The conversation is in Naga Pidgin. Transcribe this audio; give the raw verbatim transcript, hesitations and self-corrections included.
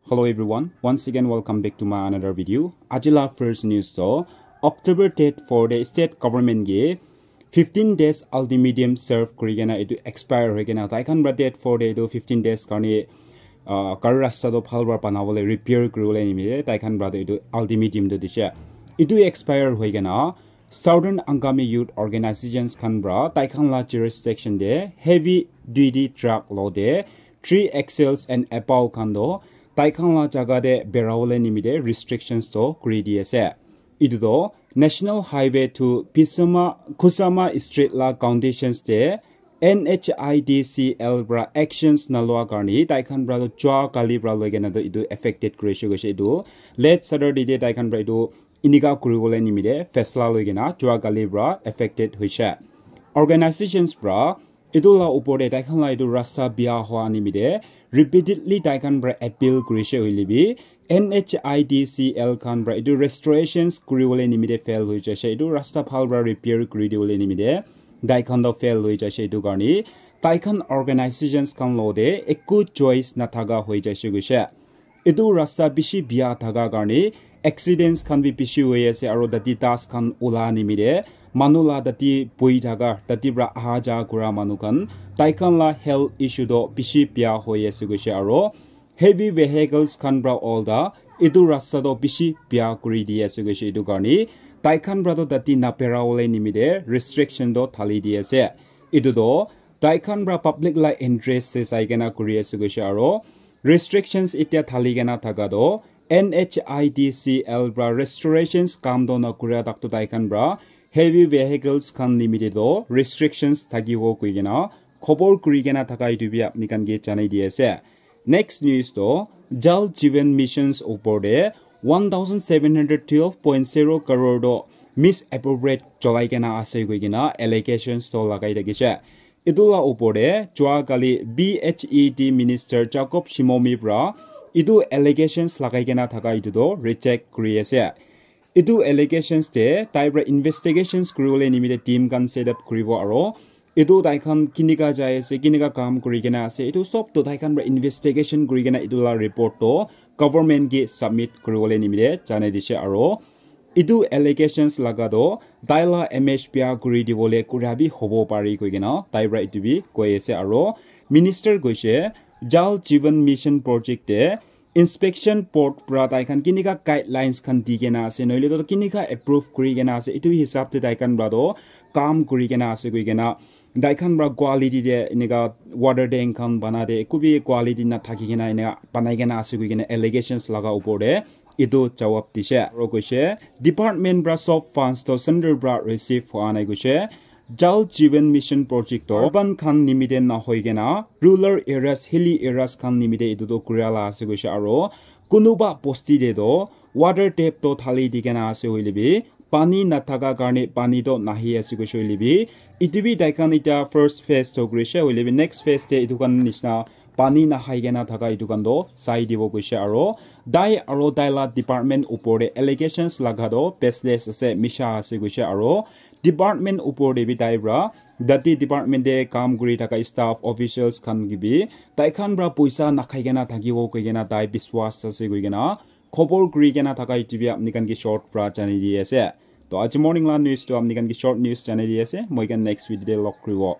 Hello everyone, once again welcome back to my another video. Aji la first news to October date four de state government ge fifteen days ultimatum serve kuri kena etu expire hoi kena tai khan pra date four de etu fifteen days karne uh, gari rasta to bhal pra banabole repair kuribole nimite tai khan pra etu ultimatum to dise. Etu expire hoi kena Southern Angami Youth Organizations khan pra tai khan la jurisdiction de heavy duty truck lo de three axles and above khan to tai khan la jaga de berabole nimite restrictions to kuri di ase. Etu to National Highway to Pisama Kusama Street la conditions de N H I D C L pra actions nalua karne tai khan pra to jua kali pra loi kena to etu affected kuri ase koise. Etu late Saturday de tai khan pra etu inika kuribole nimite fesla loi kena jua kali pra affected hoise. Organizations pra etu la upor de tai khan la etu rasta bia hoa nimite repeatedly tai khan pra appeal kurise hoile bi N H I D C L khan pra etu restorations kuribole nimite fail hoi jaise. Etu rasta bhal pra repair kuri dibole nimite tai khan to fail hoi jaise. Etu karne tai khan organizations khan lo de eku choice nathaka hoi jaise koise. Etu rasta bishi bia thaka karne accidents khan bi bishi hoi ase aro tate dust khan ula nimite manu la tate boi thaka tate pra aha ja kura manu khan tai khan la health issue to bishi bia hoi ase koise aro heavy vehicles khan pra all da etu rasta to bishi bia kuri di ase koise. Etu karne tai khan pra to tate naberabole nimite restriction to thali di ase. Etu to tai khan pra public la interest se sai kena kuri ase koise aro restrictions etia thali kena thaka to N H I D C L pra restorations kam to nakura tak to tai khan pra heavy vehicles khan nimite to restrictions thakibo koi kena khobor kuri kena thaka etu bi apni khan ke janai di ase. Next news to Jal Jeevan Missions upor de one thousand seven hundred twelve point zero crore to misappropriate cholai kena ase koi kena allegations to lagai thakise. Etu la upor de jua kali B H E D Minister Jacob Shimomi pra etu allegations lagai kena thaka etu to reject kuri ase. Etu allegations de tai pra investigations kuribole nimite team khan set up kuribo aro etu tai khan kinika jai ase, kinika kam kuri kena ase, etu sob to tai khan pra investigation kuri kena etu la report to government ke submit kuribole nimite janai dise aro etu allegations laga to tai la image bia kuri dibole kura bi hobo pare koi kena tai pra etu bi koi ase aro minister koise Jal Jeevan Mission project de inspection board pra tai khan kinika guidelines khan di kena ase noile to kinika approve kuri kena ase etu hisab de tai khan pra to kam kuri kena ase koi kena tai khan pra quality de enika water tank khan bana de eku bi quality na thaki kena enika banai kena ase koi kena allegations laga upor de etu jawab dise aro koise department pra sob funds to center pra receive hoa nai koise. Jal Jeevan Mission project to urban khan nimite na hoi kena rural areas, hilly areas khan nimite etu to kuria la ase koise aro kunuba bosti de to water tap to thali di kena ase hoile bi pani nathaka karne pani to nahi ase koise hoile bi etu bi tai khan etia first phase to kurise hoile bi next phase de etu khan nishina pani nahai kena thaka etu khan to sai dibo koise aro tai aro tai la department upor de allegations laga to baseless ase, misha ase koise aro department upor de bi tai pra tate department de kam kuri thaka staff officials khan ke bi tai khan pra poisa nakhai kena thakibo koi kena tai biswas ase koi kena khobor kuri kena thaka etu bi apni khan ke short pra janai di ase. To aji morning la news to apni khan ke short news janai di ase, moi khan next video de log kuribo.